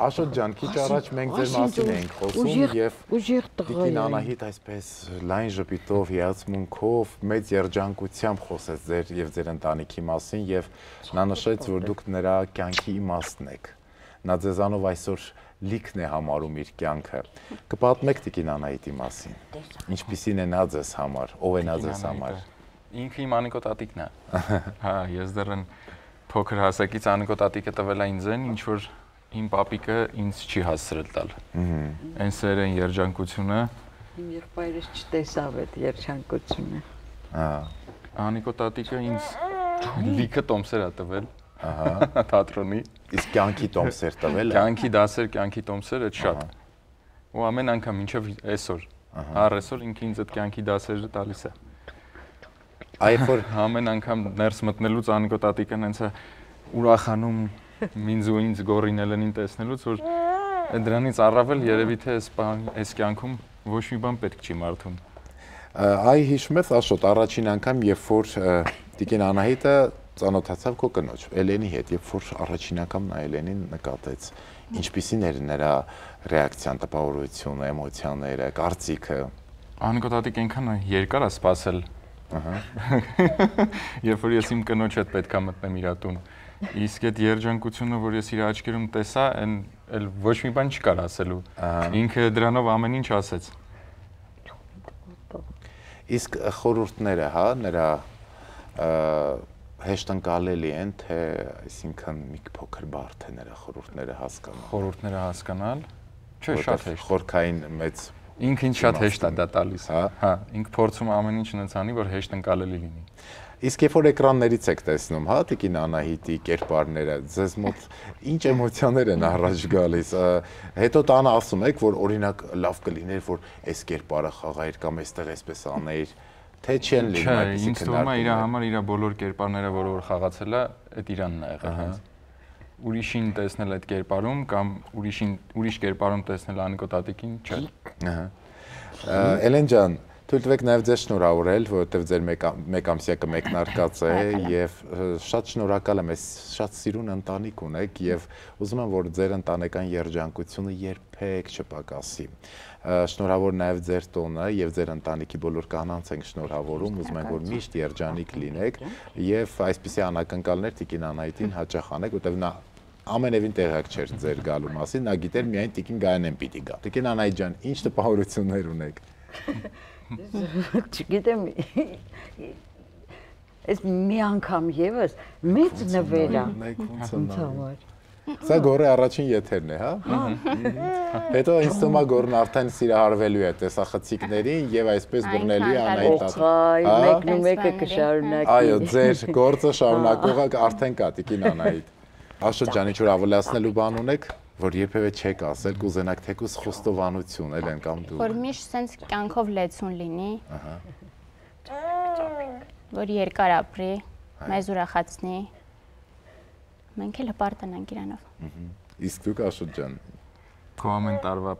Աշոտ ջան, քիչ առաջ մենք ձեր մասին էինք խոսում եւ ուժեղ տղա Տիկին Անահիտ այսպես լայն ժպիտով, հիացմունքով, մեծ երջանկությամբ խոսեց ձեր եւ ձեր ընտանիքի մասին եւ նա նշեց, որ դուք նրա կյանքի իմաստն եք։ Նա ձեզանով այսօր լիքն է համարում իր կյանքը։ Կպատմեք Տիկին Անահիտի մասին։ Ինչպիսին է նա ձեզ համար, ով է նա ձեզ համար։ Ինքը իմ Անիկո տատիկն է։ Հա, ես դեռ փոքր հասակից Անիկո տատիկը տվել է ինձ, ինչ որ իմ պապիկը ինձ չի հասցրել տալ։ Այն սերեն երջանկությունը։ Իմ եղբայրս չտեսավ այդ երջանկությունը։ Հա։ Անիկո տատիկը ինձ լիքը տոմսեր է տվել։ Ահա, թատրոնի։ Իսկ կյանքի տոմսեր տվել է։ Կյանքի դասեր, կյանքի տոմսեր այդ շատ։ Ու ամեն անգամ մինչև այսօր, առ այսօր ինքը ինձ այդ կյանքի դասերը տալիս է։ Այ որ ամեն անգամ ներս մտնելուց Անիկո տատիկն հենց ուրախանում ինձ ու ինձ Գորին Էլենին տեսնելուց, որ դրանից առավել երևի թե այս կյանքում ոչ մի բան պետք չի մարդուն։ Այ հիշում ես Աշոտ, առաջին անգամ, երբ որ Տիկին Անահիտը ծանոթացավ քո կնոջ Էլենի հետ, երբ որ առաջին անգամ նա Էլենին նկատեց, ինչպիսին էր նրա ռեակցիան, տպավորությունը, էմոցիաները, կարծիքը։ Անիկո տատիկ այնքան երկար է սպասել։ Ահա։ Երբ որ ես իմ կնոջ հետ պետքա մտնեմ իր տուն, իսկ այդ երջանկությունը, որ ես իր աչքերում տեսա, այլ ոչ մի բան չկար ասելու։ Ինքը դրանով ամեն ինչ ասեց։ Իսկ խորհուրդները, հա, նրա հեշտ ընկալելի են, թե այսինքն մի փոքր բարդ է նրա խորհուրդները հասկանալ։ Խորհուրդները հասկանալ, չէ, շատ հեշտ։ Խորքային մեծ ինքը ինչ շատ հեշտ է դա տալիս, հա, ինքը փորձում ամեն ինչ այնց անի, որ հեշտ ընկալելի լինի։ Իսկ երբ որ էկրաններից եք տեսնում, հա, Տիկին Անահիտի կերպարները, ձեզ մոտ ինչ էմոցիաներ են առաջ գալիս։ Հետո տանը ասում եք, որ օրինակ լավ կլիներ, որ այս կերպարը խաղայր կամ այստեղ այսպես անեիր, թե չեն լինում այդպիսի քննարկումներ։ Ինձ թվում է իր համար իր բոլոր կերպարները, որ խաղացել է, այդ Իրանն է եղել հենց։ ուրիշին տեսնել այդ կերպարում կամ ուրիշ կերպարում տեսնել Անիկո տատիկին, չէ։ Էլեն ջան, թույլ տվեք նաև ձեզ շնորհավորել, որովհետև ձեր մեկամսյա կմեկնարկած է եւ շատ շնորհակալ եմ, ես շատ սիրուն ընտանիք ունեք եւ ուզում եմ, որ ձեր ընտանեկան երջանկությունը երբեք չպակասի։ Շնորհավոր նաև ձեր տոնը եւ ձեր ընտանիքի բոլոր կանանց ենք շնորհավորում, ուզում ենք, որ միշտ երջանիկ լինեք եւ այսպիսի անակնկալներ Տիկին Անահիտին հաճախ անեք, որովհետև նա ամենևին տեղյակ չէր ձեր գալու մասին, նա գիտեր միայն Տիկին Գայանեն պիտի գա։ Տիկին Անահիտ ջան, ինչ տպավորություններ ունեք։ Չգիտեմ, այս մի անգամ եւս մեծ նվեր է։ Սա գորի առաջին եթերն է, հա։ Հետո ինձ թվում է գորն արդեն սիրահարվելու է տեսախցիկներին եւ այսպես բռնելու է Անահիտ։ Մեկն ու մեկը կշարունակի։ Այո, ձեր գործը շարունակողը արդեն կա Տիկին Անահիտ։ Աշոտ ջան, ինչ որ ավելացնելու բան ունեք, որ երբևէ չեք ասել, կուզենաք թեկուզ խոստովանություն էլ են կամ դու։ Որ միշտ սենց կյանքով լեցուն լինի։ Որ երկար ապրի, մեզ ուրախացնի։ Մենք էլ հպարտանանք իրանով։ Իսկ դուք Աշոտ ջան։ Քո ամեն տարվա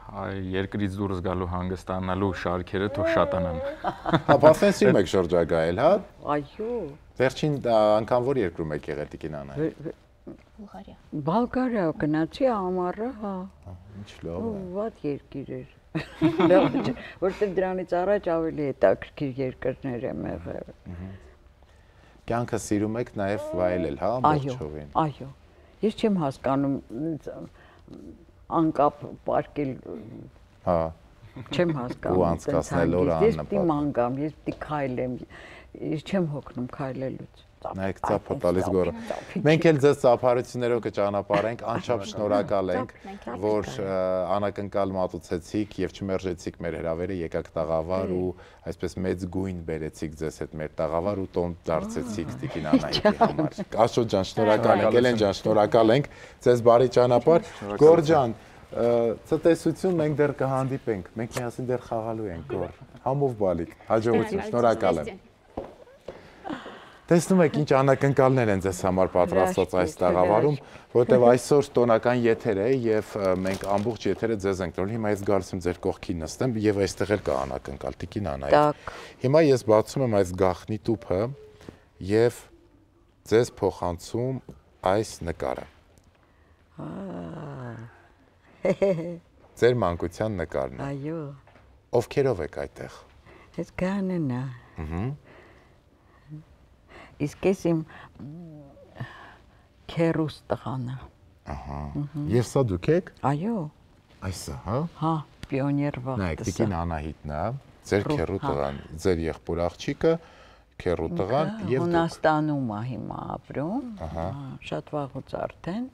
երկրից դուրս գալու հանգստանալու շարքերը թող շատանան։ Հա, բասեն սիրում եք շրջագայել, հա։ Այո։ Վերջին անգամ որ երկրում եք եղել Տիկին Անահիտ։ Բուլղարիա։ Բալգարիա գնացի ամառը, հա։ Ինչ լավ է։ Ված երկիր էր։ Որտեղ դրանից առաջ ավելի հետաքրքիր երկրներ եմ եղել։ Կյանքը սիրում եք նաև վայելել, հա, ամբողջովին։ Այո։ Ես չեմ հասկանում անկապ պարկել։ Հա։ Չեմ հասկանում։ Ու անցկացնել օր Ես աննպատ։ պիտի մանգամ, ես պիտի քայլեմ։ Ես չեմ հոգնում քայլելուց։ Նայեք ծափը տալիս գորը։ Մենք էլ ձեզ ծափարություններով կճանապարհենք, անչափ շնորհակալ ենք, որ անակնկալ մատուցեցիք եւ չմերժեցիք մեր հրավերը, եկաք տաղավար ու այսպես մեծ գույն բերեցիք ձեզ հետ մեր տաղավար ու տոն դարձեցիք Տիկին Անահիտի համար։ Աշոտ ջան, շնորհակալ ենք, Էլեն ջան, շնորհակալ ենք, ձեզ բարի ճանապարհ։ Գոր ջան, ցտեսություն, մենք դեռ կհանդիպենք, մենք միասին դեռ խաղալու ենք, Գոր։ Համով բալիկ, հաջողություն, շնորհակալ եմ։ Տեսնում եք ինչ անակնկալներ են ձեզ համար պատրաստված այս տաղավարում, որտեղ այսօր տոնական եթեր է եւ մենք ամբողջ եթերը ձեզ ենք տվել։ Հիմա ես գալիս եմ ձեր կողքին նստեմ եւ այստեղ էլ կա անակնկալ Տիկին Անահիտ։ Հիմա ես բացում եմ այս գաղտնի տուփը եւ ձեզ փոխանցում այս նկարը։ Ձեր մանկության նկարն է։ Այո։ Ովքերով եք այդտեղ։ Այս Գայանեն է։ Իսկ ես իմ քերուս տղան է։ Ահա։ Եվ սա դուք եք։ Այո։ Այսա, հա։ Հա, պիոներ վաղտը։ Նայեք, Տիկին Անահիտն է, ձեր քերու տղան, ձեր եղբոր աղջիկը, քերու տղան եւ դուք։ Հունաստանում է հիմա ապրում։ Ահա։ Շատ վաղուց արդեն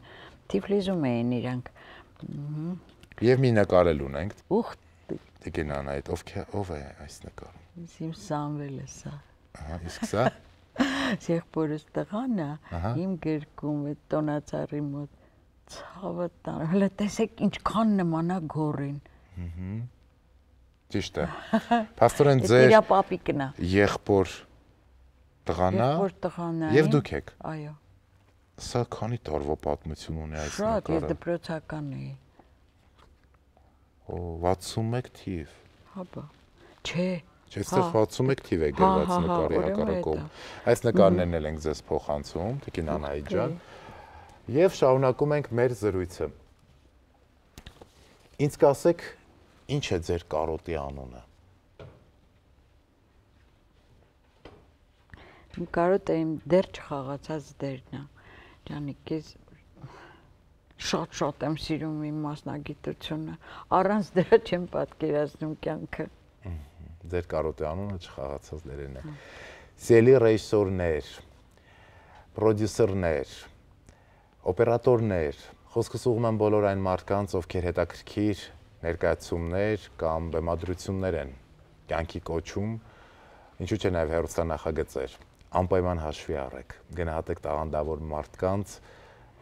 Թիֆլիզում էին իրանք։ Եվ մի նկարել ունենք։ Ուխ, Տիկին Անահիտ, ով է այս նկարում։ Իմ Սամվելը սա։ Ահա, իսկ սա։ Եղբորս տղան է, իմ գրկում է տոնածառի մոտ ցավը տան։ Հələ տեսեք ինչքան նման է գորին։ Ճիշտ է։ Փաստորեն ձեր Իրա պապիկն է։ Եղբոր տղան է։ Եղբոր տղան է։ Եվ դուք եք։ Այո։ Սա քանի տարվա պատմություն ունի այս նկարը։ Շատ, ես նկարը։ դպրոցական էի։ Օ, 61 թիվ։ Հապա։ Չէ։ Այստեղ 61 թիվ է գրված նկարի հակառակում։ Այս նկարներն էլ ենք ձեզ փոխանցում, Տիկին Անահիտ ջան։ Եվ շարունակում ենք մեր զրույցը։ Ինձ կասեք, ինչ է ձեր կարոտի անունը։ Իմ կարոտը իմ դեռ չխաղացած դերն է։ Ջանիկ, ես շատ եմ սիրում իմ մասնագիտությունը։ Առանց դրա չեմ պատկերացնում կյանքը։ Ձեր կարոտի անունը չխաղացած դերն է։ Սիրելի ռեժիսորներ, պրոդյուսերներ, օպերատորներ, խոսքս ուղղում եմ բոլոր այն մարդկանց, ովքեր հետաքրքիր ներկայացումներ կամ բեմադրություններ են կյանքի կոչում, ինչու՞ չէ նաև հեռուստանախագծեր, անպայման հաշվի առեք, գնահատեք տաղանդավոր մարդկանց,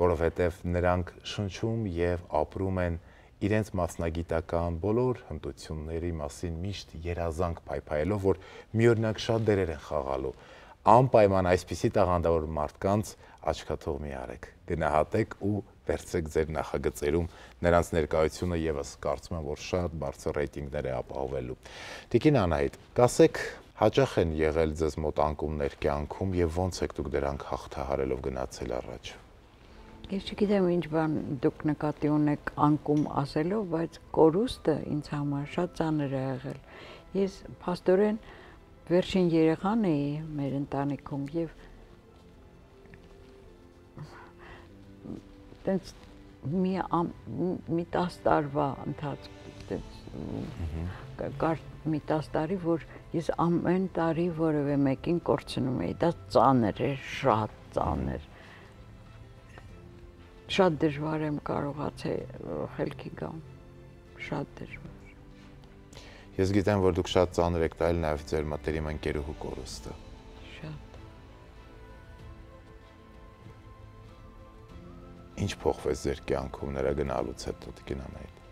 որովհետև նրանք շնչում եւ ապրում են իրենց մասնագիտական բոլոր հմտությունների մասին միշտ երազանք փայփայելով, որ միօրինակ շատ դերեր են խաղալու։ անպայման այսպիսի տաղանդավոր մարդկանց աչքաթող մի արեք, գնահատեք ու վերցրեք ձեր նախագծերում նրանց ներկայությունը եւս կարծում եմ, որ շատ բարձր ռեյտինգներ է ապահովելու։ Տիկին Անահիտ, կասեք, հաճախ են եղել ձեզ մոտ անկումներ կյանքում եւ ո՞նց եք դուք դրանք հաղթահարելով գնացել առաջ։ Ես չգիտեմ ինչ բան դուք նկատի ունեք անկում ասելով, բայց կորուստը ինձ համար շատ ծանր է եղել։ Ես փաստորեն վերջին երեխան էի մեր ընտանիքում եւ տենց մի 10 տարվա ընթացքում կար մի 10 տարի, որ ես ամեն տարի որևէ մեկին կորցնում էի, դա ծանր էր, շատ ծանր։ Շատ դժվար եմ կարողացել խելքի գամ, շատ դժվար։ Ես գիտեմ, որ դուք շատ ծանր եք տայել նաև ձեր մտերիմ ընկերուհու կորուստը։ Շատ։ Ինչ փոխվեց ձեր կյանքում նրա գնալուց հետո, Տիկին Անահիտ։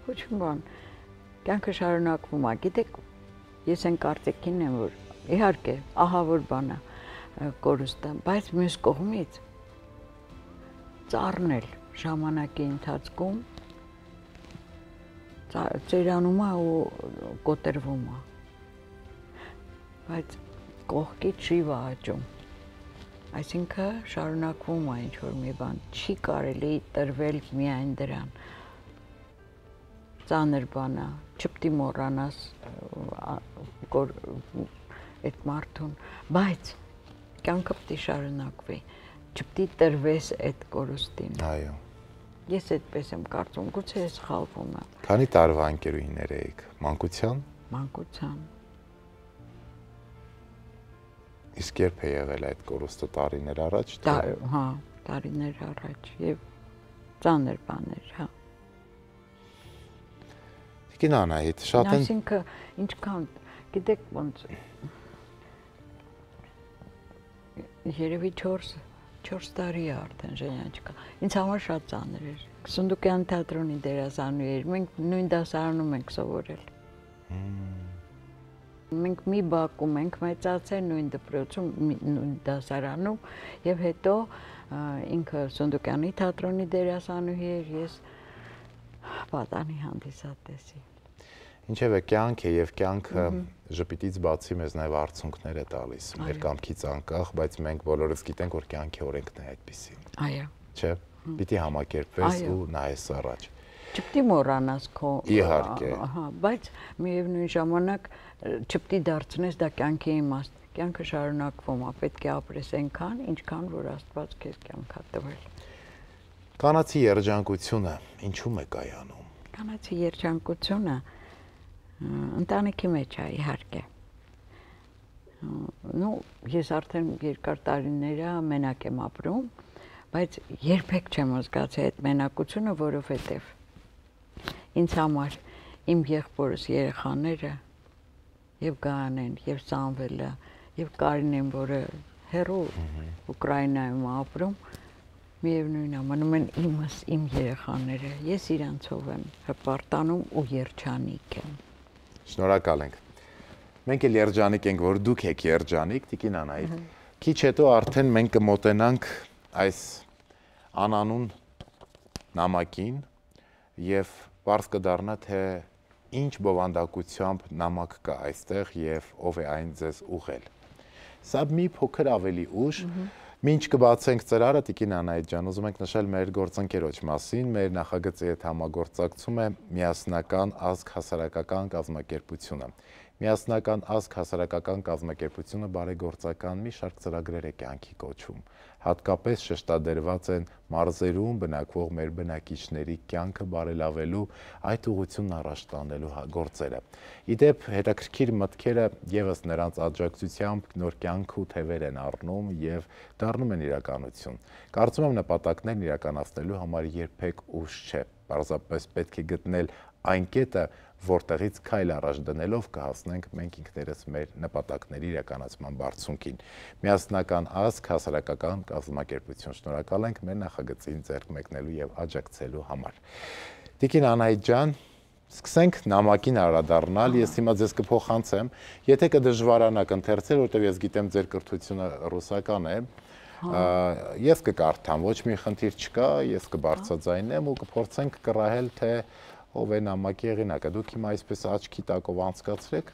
Ոչ մի բան, կյանքը շարունակվում է, գիտեք, ես այն կարծիքին եմ, որ իհարկե, ահավոր բան է կորուստը, բայց մյուս կողմից ծառնել ժամանակի ընթացքում ծերանում է ու կոտրվում է, բայց կողքից շիվ է աճում, այսինքն շարունակվում է ինչ-որ մի բան, չի կարելի տրվել միայն դրան, ծանր բան է, չպետք է մոռանաս այդ մարդուն, բայց կյանքը պետք է շարունակվի, չպետք է տրվես այդ կորուստին։ Այո։ Ես այդպես եմ կարծում, գուցե ես սխալվում եմ։ Քանի տարվա ընկերուհիներ եք, մանկության։ Մանկության։ Իսկ երբ է եղել այդ կորուստը, տարիներ առաջ։ Հա, տարիներ առաջ եւ ծանր բաներ, հա։ Տիկին Անահիտ, շատ են։ Այսինքն ինչքան, գիտեք ոնց երևի 4 տարի է արդեն Ժենյաչկա։ Ինձ համար շատ ծանր էր։ Սունդուկյան թատրոնի դերասանուհի էր։ Մենք նույն դասարանում ենք սովորել։ Մենք մի բակում ենք մեծացել նույն դպրոցում, նույն դասարանում եւ հետո ինքը Սունդուկյանի թատրոնի դերասանուհի էր, ես պատանի հանդիսատեսի։ Ինչևէ կյանք է եւ կյանքը ժպիտից բացի մեզ նաեւ արցունքներ է տալիս, մեր կամքից անկախ, բայց մենք բոլորս գիտենք, որ կյանքի օրենքն է այդպեսին։ Այո։ Չէ, պիտի համակերպվես ու նայես առաջ։ Չպետք է մոռանաս քո Իհարկե։ Ահա, բայց միևնույն ժամանակ չպետք է դարձնես դա կյանքի իմաստ։ Կյանքը շարունակվում է, պետք է ապրես այնքան, ինչքան որ Աստված քեզ կյանք է տվել։ Կանացի երջանկությունը ինչու՞մ է կայանում։ Կանացի երջանկությունը ընտանիքի մեջ է, իհարկե։ Ես արդեն երկար տարիներ է մենակ եմ ապրում, բայց երբեք չեմ զգացել այդ մենակությունը, որովհետև ինձ համար իմ եղբորս երեխաները եւ Գայանեն, եւ Սամվելը, եւ Կարինեն, որը հեռու Ուկրաինայում ապրում, միևնույն է, մնում են իմս, իմ երեխաները, ես իրանցով եմ հպարտանում ու երջանիկ եմ։ Շնորհակալ ենք։ Մենք էլ երջանիկ ենք, որ դուք եք երջանիկ, Տիկին Անահիտ։ Քիչ հետո արդեն մենք կմոտենանք այս անանուն նամակին եւ բարձ կդառնա, թե ինչ բովանդակությամբ նամակ կա այստեղ եւ ով է այն ձեզ ուղղել։ Սա մի փոքր ավելի ուշ, մինչ կբացենք ծրարը, Տիկին Անահիտ ջան, ուզում ենք նշել մեր գործընկերոջ մասին, մեր նախագծի հետ համագործակցում է Միասնական ազգ հասարակական կազմակերպությունը։ Միասնական ազգ հասարակական կազմակերպությունը բարեգործական մի շարք ծրագրեր է կյանքի կոչում։ Հատկապես շեշտադրված են մարզերում բնակվող մեր բնակիչների կյանքը բարելավելու, այդ ուղղությունն առաջ տանելու գործերը։ Իդեպ հետաքրքիր մտքերը եւս նրանց աջակցությամբ նոր կյանք ու թևեր են առնում եւ դառնում են իրականություն։ Կարծում եմ նպատակներն իրականացնելու համար երբեք ուշ չէ։ Պարզապես պետք է գտնել այն կետը, որտեղից քայլ առաջ դնելով կհասնենք մենք ինքներս մեր նպատակների իրականացման բարձունքին։ Միասնական ազգ հասարակական կազմակերպություն, շնորհակալ ենք մեր նախագծին ձեռք մեկնելու եւ աջակցելու համար։ Տիկին Անահիտ ջան, Սկսենք նամակին անդրադառնալ, ես հիմա ձեզ կփոխանցեմ, եթե կդժվարանաք ընթերցել, որտեղ ես գիտեմ ձեր կրթությունը ռուսական է, ես կկարդամ, ոչ մի խնդիր չկա, ես կբարձրաձայնեմ ու կփորձենք կռահել, թե ով է նամակի հեղինակը։ Դուք հիմա այսպես աչքի տակով անցկացրեք։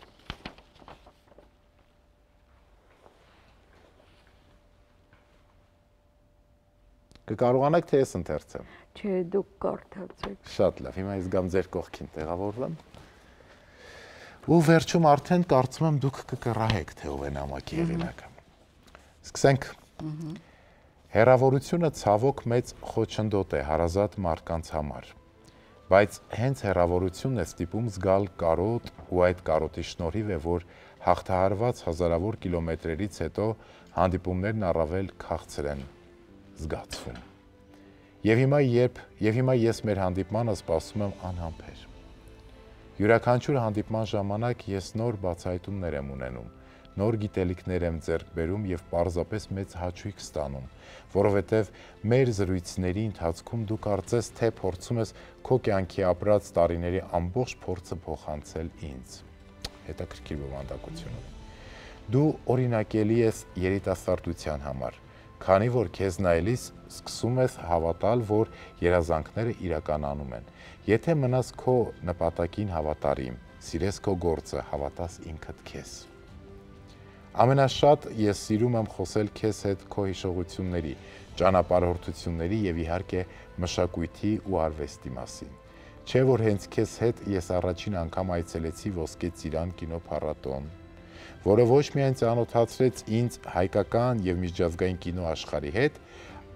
Կկարողանաք թե ես ընթերցեմ։ Չէ, դուք կարդացեք։ Շատ լավ, հիմա ես գամ ձեր կողքին տեղավորվեմ։ Ու վերջում արդեն կարծում եմ դուք կկռահեք, թե ով է նամակի հեղինակը։ Սկսենք։ Հեռավորությունը ցավոք մեծ խոչընդոտ է հարազատ մարդկանց համար։ Բայց հենց հեռավորությունն է ստիպում զգալ կարոտ ու այդ կարոտի շնորհիվ է, որ հաղթահարված հազարավոր կիլոմետրերից հետո հանդիպումներն առավել քաղցր են զգացվում։ Եվ հիմա ես մեր հանդիպմանը սպասում եմ անհամբեր։ Յուրաքանչյուր հանդիպման ժամանակ ես նոր բացահայտումներ եմ ունենում, նոր գիտելիքներ եմ ձեռք բերում եւ պարզապես մեծ հաճույք ստանում, որովհետեւ մեր զրույցների ընթացքում դու կարծես թե փորձում ես քո կյանքի ապրած տարիների ամբողջ փորձը փոխանցել ինձ։ Հետաքրքիր բովանդակություն։ Դու օրինակելի ես երիտասարդության համար, քանի որ քեզ նայելիս սկսում ես հավատալ, որ երազանքները իրականանում են։ Եթե մնաս քո նպատակին հավատարիմ, սիրես քո գործը, հավատաս ինքդ քեզ։ Ամենաշատ ես սիրում եմ խոսել քեզ հետ քո հիշողությունների, ճանապարհորդությունների եւ իհարկե մշակույթի ու արվեստի մասին։ Չէ՞ որ հենց քեզ հետ ես առաջին անգամ այցելեցի Ոսկե Ծիրան կինոփառատոն, որը ոչ միայն ծանոթացրեց ինձ հայկական եւ միջազգային կինո աշխարհի հետ,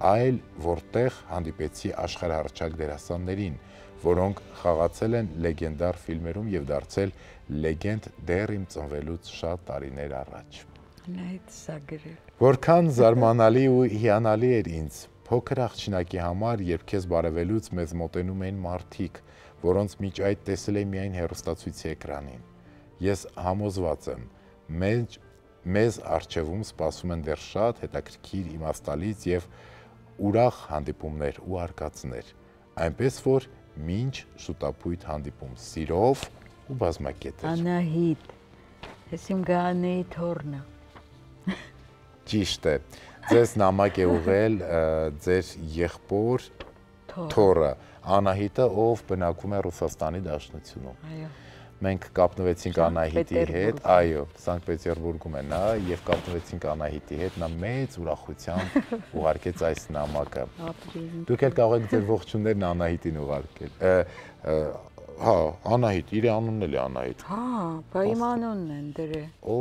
այլ որտեղ հանդիպեցի աշխարհահռչակ դերասաններին, որոնք խաղացել են լեգենդար ֆիլմերում եւ դարձել լեգենդ դեռ իմ ծնվելուց շատ տարիներ առաջ։ Նայեց սա գրել։ Որքան զարմանալի ու հիանալի էր ինձ փոքր աղջնակի համար, երբ քեզ բարևելուց մեզ մոտենում էին մարդիկ, որոնց միջ այդ տեսել էի միայն հեռուստացույցի էկրանին։ Ես համոզված եմ, մեզ առջևում սպասում են դեռ շատ հետաքրքիր իմաստալից եւ ուրախ հանդիպումներ ու արկածներ, այնպես որ մինչ շուտապույտ հանդիպում, սիրով ու բազմակետեր։ Անահիտ, ես իմ գանեի թորնը։ Ճիշտ է, ձեզ նամակ է ուղղել ձեր եղբոր թորը, Անահիտը, ով բնակվում է Ռուսաստանի Դաշնությունում։ Այո։ Մենք կապնվեցինք Անահիտի հետ, այո, Սանկտ Պետերբուրգում է նա, եւ կապնվեցինք Անահիտի հետ, նա մեծ ուրախությամբ ուղարկեց այս նամակը։ Դուք էլ կարող եք ձեր ողջուններն Անահիտին ուղարկել։ Հա, Անահիտ, իր անունն էլ է Անահիտ։ Հա, բա իմ անունն են դրել։ Օ,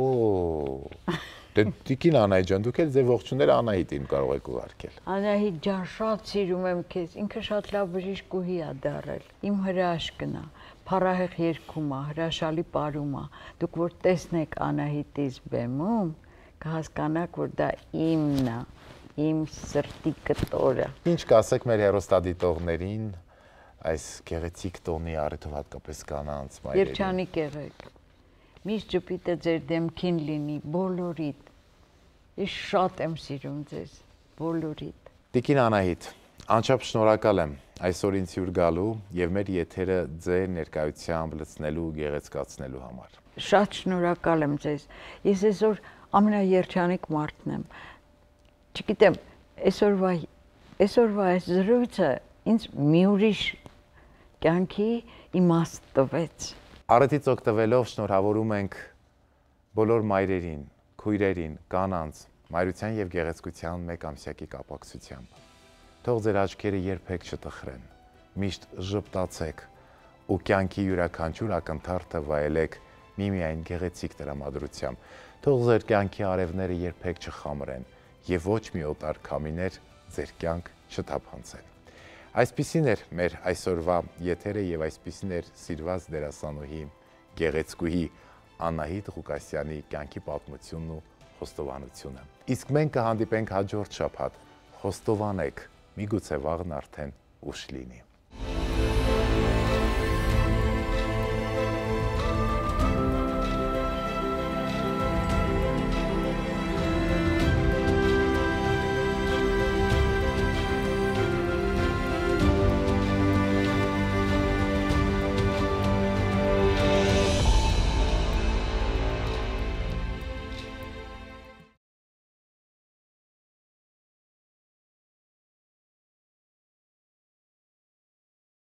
դե Տիկին Անահիտ ջան, դուք էլ ձեր ողջունները Անահիտին կարող եք ուղարկել։ Անահիտ ջան, շատ սիրում եմ քեզ, ինքը շատ լավ բժիշկ ու հի է դարել։ Իմ հրաշքն է, փառահեղ երգում է, հրաշալի պարում է։ Դուք որ տեսնեք Անահիտից բեմում, կհասկանաք, որ դա իմն է, իմ սրտի կտորը։ Ինչ կասեք մեր հեռուստադիտողներին այս գեղեցիկ տոնի առիթով հատկապես կանանց մայրերի։ Երջանիկ եղեք։ Միշտ ժպիտը ձեր դեմքին լինի, բոլորիդ։ Ես շատ եմ սիրում ձեզ, բոլորիդ։ Տիկին Անահիտ, անչափ շնորհակալ եմ այսօր ինձ հյուր գալու եւ մեր եթերը ձեր ներկայությամբ լցնելու ու գեղեցկացնելու համար։ Շատ շնորհակալ եմ ձեզ։ Ես այսօր ամենաերջանիկ մարդն եմ։ Չգիտեմ, այսօրվա այս զրույցը ինձ մի ուրիշ կյանքի իմաստ տվեց։ Առիթից օգտվելով շնորհավորում ենք բոլոր մայրերին, քույրերին, կանանց, մայրության եւ գեղեցկության մեկ ամսյակի կապակցությամբ։ Թող ձեր աչքերը երբեք չտխրեն, միշտ ժպտացեք ու կյանքի յուրաքանչյուր ակնթարթը վայելեք միմիայն գեղեցիկ տրամադրությամբ։ Թող ձեր կյանքի արևները երբեք չխամրեն եւ ոչ մի օտար քամիներ ձեր կյանք չթափանցեն։ Այսպիսին էր մեր այսօրվա եթերը եւ այսպիսին էր սիրված դերասանուհի, գեղեցկուհի Անահիտ Ղուկասյանի կյանքի պատմությունն ու խոստովանությունը։ Իսկ մենք կհանդիպենք հաջորդ շաբաթ։ Խոստովանեք, միգուցե վաղն արդեն ուշ լինի։